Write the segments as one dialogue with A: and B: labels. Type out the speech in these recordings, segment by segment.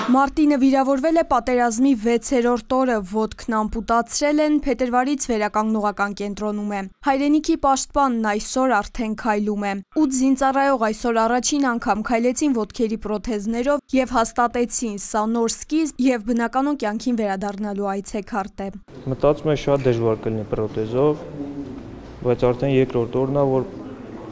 A: Մարտինը վիրավորվել է պատերազմի 6-րդ օրը, ոտքն ամպուտացրել են, փետրվարից վերականգնողական կենտրոնում է։ Հայրենիքի պաշտպանն այսօր արդեն քայլում է։ 8 զինծառայող այսօր առաջին անգամ քայլեցին ոտքերի պրոթեզներով եւ հաստատեցին, սա նոր սկիզբ եւ բնականոն կյանքին վերադառնալու այցեքարտ է։
B: Մտածում եմ շատ դժվար կլինի պրոթեզով, բայց արդեն երկրորդ օրն է, որ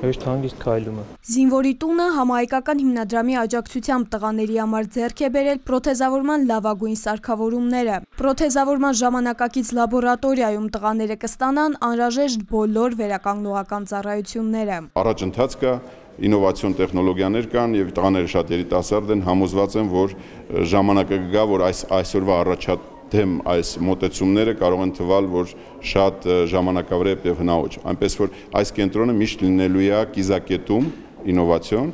B: հեշտ հանգիստ քայլում է։
A: Զինվորի տունը համահայկական հիմնադրամի աջակցությամբ տղաների համար ձեռք է բերել պրոթեզավորման լավագույն սարքավորումները։ Պրոթեզավորման ժամանակակից լաբորատորիայում տղաները կստանան անհրաժեշտ բոլոր վերականգնողական ծառայությունները։
C: Առաջընթաց կա, ինովացիոն տեխնոլոգիաներ կան եւ տղաները շատ երիտասարդ են, համոզված են, որ ժամանակը կգա, որ այսօրվա առաջադեմ այս մոտեցումները կարող են թվալ, որ շատ ժամանակավրեպ եւ հնաոճ։ Այնպես որ այս կենտրոնը միշտ լինելու է կիզակետում ինովացիոն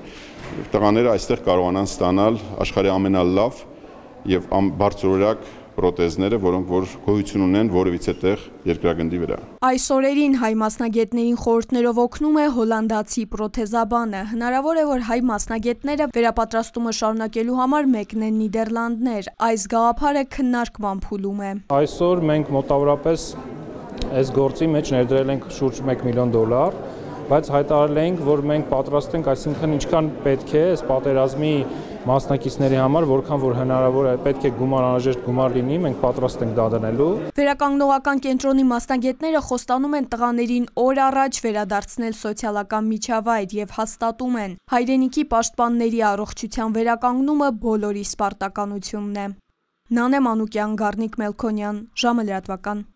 C: եւ տղաները այստեղ կարողանան ստանալ աշխարհի ամենալավ եւ բարձրորակ պրոթեզները, որոնք որ գոյություն ունեն որևիցե տեղ երկրագնդի վրա։
A: Այս օրերին հայ մասնագետներին խորհուրդներով օգնում է հոլանդացի պրոթեզաբանը։ Հնարավոր է, որ հայ մասնագետները վերապատրաստումը շարունակելու համար մեկնեն Նիդերլանդներ։ Այս գաղափարը քննարկման փուլում է։
B: Այսօր մենք մոտավորապես այս գործի մեջ ներդրել ենք շուրջ $1 միլիոն, բայց հայտարարել ենք, որ մենք պատրաստ ենք, այսինքն ինչքան պետք է այս պատերազմի մասնակիցների համար, որքան որ հնարավոր է, պետք է անհրաժեշտ գումար լինի, մենք պատրաստ ենք դա դնելու։
A: Վերականգնողական կենտրոնի մասնագետները խոստանում են տղաներին օր առաջ վերադարձնել սոցիալական միջավայր եւ հաստատում են, հայրենիքի պաշտպանների առողջության վերականգնումը բոլորի սպարտականությունն է։ Նանե Մանուկյան, Գառնիկ Մելքոնյան, ժամը լրատվական։